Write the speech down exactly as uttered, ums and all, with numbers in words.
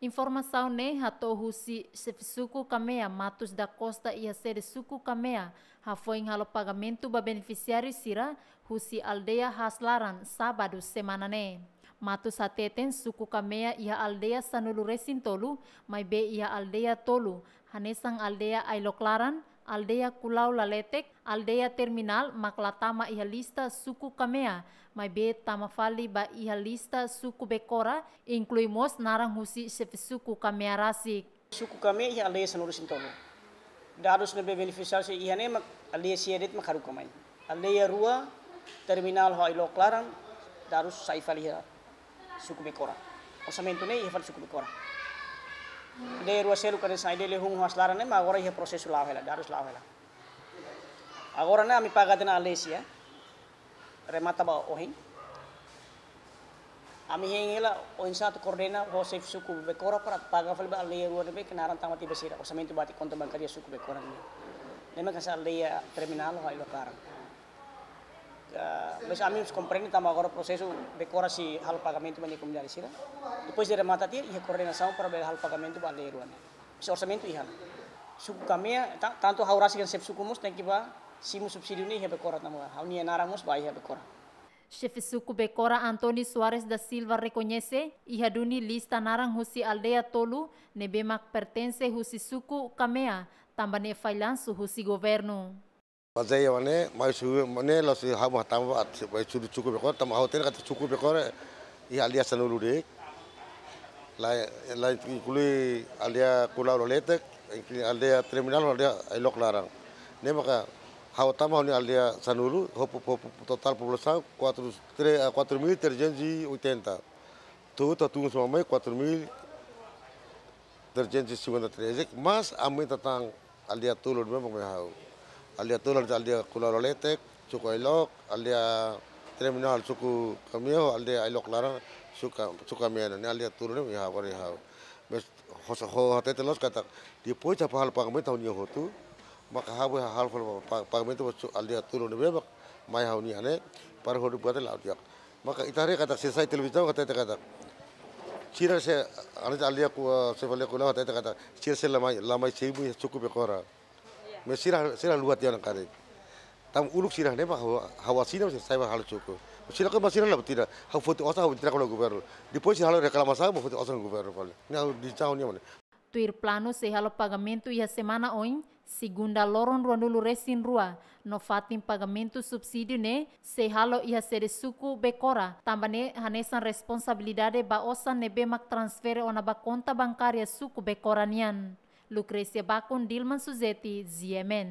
Informasaun ne'e hato'o husi Xefe Suku Kamea, Matos da Costa, iha sede Suku Kamea, hafoin halo pagamentu ba benefisiáriu sira husi aldeia Haas Laran, sábadu semana ne'e. Matos hateten Suku Kamea iha aldeia sanulu-resin-tolu, maibé iha aldeia tolu, hanesan aldeia Ailok Laran, aldeia Kulau Laletek, aldeia Terminál, mak la tama iha lista Suku Kamea, maibé tama fali ba iha lista Suku Bekora, inklui mós naran husi Xefe Suku Kamea rasik. Suku Kamea iha aldeia sanulu-resin-tolu. Dadus ne'ebé benefisiáriu sira iha ne'e mak aldeia sia de'it mak haruka mai. Aldeia rua, Terminál ho Ailok Laran, dadus sai fali iha Suku Bekora. Orsamentu ne'e iha fali Suku Bekora. Aldeia rua seluk hanesan aldeia Lehun ho Haas Laran ne'e mak agora iha prosesu la'o hela, dadus la'o hela. Agora ne'e ami paga tiha ona aldeia sia, remata ba ohin. Ami hein hela oinsá atu koordena ho Xefe Suku Bekora para paga fali ba aldeia rua ne'ebé ke naran tama tiha ba sira, orsamentu batik konta bankária Suku Bekora ne'e. Ne'e mak hanesan aldeia Terminál ho Ailok Laran. Ah, mas ami mós komprende tanba agora prosesu Bekora sei halo pagamentu ba nia komunidade sira. Depois de remata tiha, iha koordenasaun para bele halo pagamentu ba aldeia rua ne'e. Mas orsamentu iha. Suku Kamea, ta-, tantu ha'u rasik hanesan Xefe Suku mós tenke bá simu subsídiu ne'e iha Bekora tanba ha'u-nia naran mós bá iha Bekora. Xefe Suku Bekora António Soares da Silva rekoñese, iha duni lista naran husi aldeia tolu ne'ebé mak pertense husi Suku Kamea, tanba ne'e fallansu husi governu. Bazeia wane, mai su mane la si hamu hatama ba, mai su Suku Bekora, tanba ha'u hatene katak Suku Bekora iha aldeia sanulu de'it. La, la inklui aldeia Kulau Laletek, inklui aldeia Terminál, aldeia Ailok Laran. Ne'e maka ha'u tama ha'u-nia aldeia sanulu, ho po-, po-, po-, totál populasaun quatro, tre-, ah, quatro mil trezentos e oitenta. Tuir atu tun soma mai quatro mil trezentos e cinquenta e três, mas aumenta tan aldeia tolu ne'ebé mak mai ha'u. Aldeia tolu, aldeia Kulau Laletek, Suku Ailok, aldeia Terminál, Suku Kamea, aldeia Ailok Laran, Suku Ka-, Suku Kamea, ne'e aldeia tolu ne'ebé mai ha'u, mai ha'u. Mas hosa ho hatete loos katak, depois de halo pagamentu ha'u-nia hotu, maka ha'u halo pa-, pa-, pagamentu ba su-, aldeia tolu ne'ebé mak mai ha'u-nian ne'e, para hodi buat la'o di'ak. Maka ita haree katak sira sai televizaun hatete katak. Sira se, ane aldeia Ku-, se fale Kulau hatete katak. Sira sei la mai, la mai simu iha Suku Bekora. Mas sira, sira haluha tiha ona karik. Tanba uluk sira ne'e mak ha'u, ha'u asina sira sai ba halo suku. Sira ko mas sira la buat ida. Ha'u foti osan ha'u entrega ba governu. Depois sira halo reklamasaun, ha'u foti osan governu fali. Ne'e ha'u di cau ni mana. Tuir planu sei halo pagamentu iha semana oin, segunda loron ruanulu-resin-rua, no fatin pagamentu subsídiu ne'e sei halo iha sede Suku Bekora, tanba ne'e hanesan responsabilidade ba osan ne'ebé mak transfere ona ba konta bankária Suku Bekora nian. Lucrecia Bakun, Dilman Suzeti, G M N.